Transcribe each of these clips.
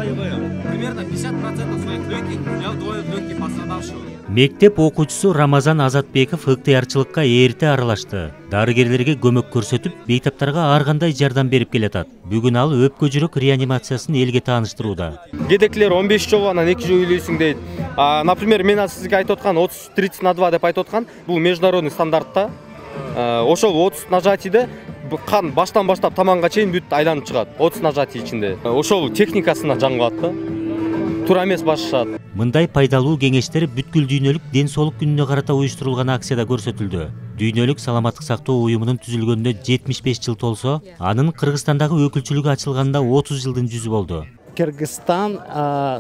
Примерно 50% своих легких делают легкие пострадавшего. Мектеп окуучусу Рамазан Азатбеков ыктыярчылыкка эрте аралашты. Дарыгерлерге көмөк көрсөтүп, бейтаптарга ар кандай жардам берип келатат. Бүгүн ал өпкө жүрөк реанимациясын элге тааныштырууда. Кедеклер 15 жолу анан 2 жыл үйлөйсүң дейт. Например, мен сизге айтып аткан 30-30/2 деп айтып аткан, бул международный стандартта. Ошол 30 нажатийде кан баштан баштап таманга чейин бүт айланып чыгат. 30 нажатий ичинде. Ошол техникасына жан калат да. Тура эмес башышат. Мындай пайдалуу кеңештер бүткүл дүйнөлүк ден соолук күнүнө карата уюштурулган акцияда көрсөтүлдү. Дүйнөлүк саламаттык сактоо уюмунун түзүлгөнүнө 75 жыл толсо, анын Кыргызстандагы өкүлчүлүгү ачылганында 30 жылдын жүзү болду. Кыргызстан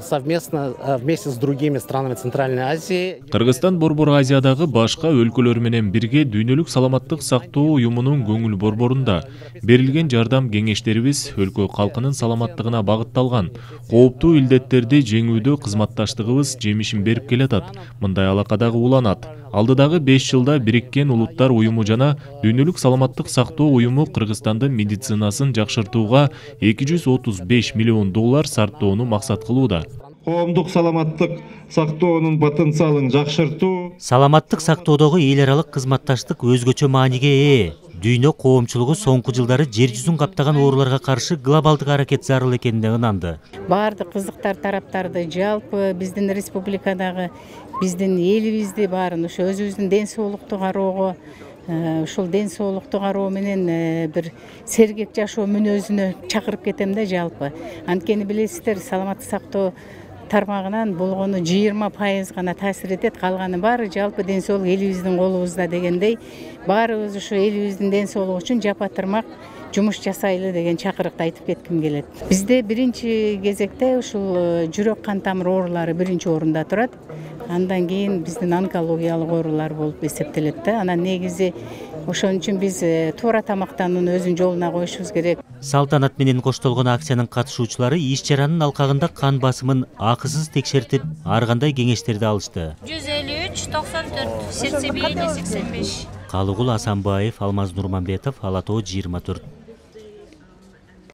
совместно вместе с другими странами Центральной Азии. Кыргызстан Борбор Азиядагы башка өлкөлөр менен бирге дүйнөлүк саламаттык сактоо уюмунун көңүл борборунда берилген жардам кеңештерибиз өлкө калкынын саламаттыгына багытталган. Кооптуу илдеттерди жеңүүдө кызматташтыгыбыз жемишин берип келатат. Мындай алакадагы уланат. Алдыдагы 5 жылда Бириккен Улуттар уюму жана дүйнөлүк саламаттык сактоо уюму Кыргызстандын медицинасын жакшыртууга $235 миллион сарптоону максат кылууда. Коомдук саламаттык сактоонун потенциалын жакшыртуу. Саламаттык сактоодогу эл аралык кызматташтык өзгөчө мааниге ээ. Дүйнө коомчулугу соңку жылдары жер жүзүн каптаган ооруларга каршы глобалдык аракет зарыл экенине ынанды. Баардык кызыктар тараптарды жалпы биздин республикадагы биздин элибизди баарын ошо өзүбүздүн ден соолукту кароого, ушул ден соолукту кароо менен бир сергек жашоо мүнөзүнө чакырып кетем да жалпы. Анткени билесиздер, саламаттык сактоо тармагынан болгону 20% гана таасир этет, калганы баары жалпы ден соолук элибиздин колубузда дегендей, баарыбыз ушу элибиздин ден соолугу үчүн жапа-тырмак жумуш жасайлы деген чакырыкты айтып кетким келет. Бизде биринчи кезекте ушул жүрөк кан тамыр оорулары биринчи орунда турат. Андан кийин биздин онкологиялык оорулар болуп эсептелет да. Анан негизи ошон үчүн биз туура тамактанууну өзүнүн жолуна коюшубуз керек. Салтанат менен коштолгон акциянын катышуучулары иш чаранын алкагында кан басымын акысыз текшертип, ар кандай кеңештерди алышты. 153-94, сердцебиение 85. Калыгул Асанбаев, Алмаз Нурманбетов, Ала Тоо 24.